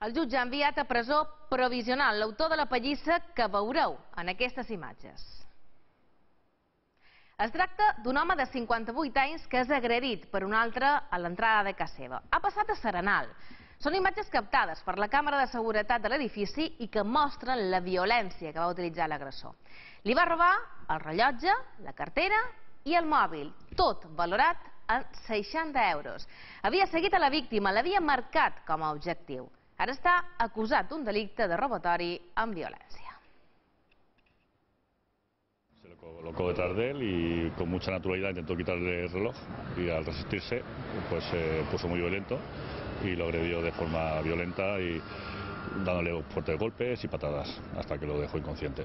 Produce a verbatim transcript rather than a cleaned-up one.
El jutge ha enviat a presó provisional l'autor de la pallissa que veureu en aquestes imatges. Es tracta d'un home de cinquanta-vuit anys que és agredit per un altre a l'entrada de casa seva. Ha passat a Serenal. Són imatges captades per la càmera de seguretat de l'edifici i que mostren la violència que va utilitzar l'agressor. Li va robar el rellotge, la cartera i el mòbil, tot valorat en seixanta euros. Havia seguit a la víctima, l'havia marcat com a objectiu. Ara està acusat d'un delicte de robatori amb violència. Se lo colocó detrás de él y con mucha naturalidad intentó quitarle el reloj y al resistirse pues se puso muy violento y lo agredió de forma violenta y dándole fuertes golpes y patadas hasta que lo dejó inconsciente.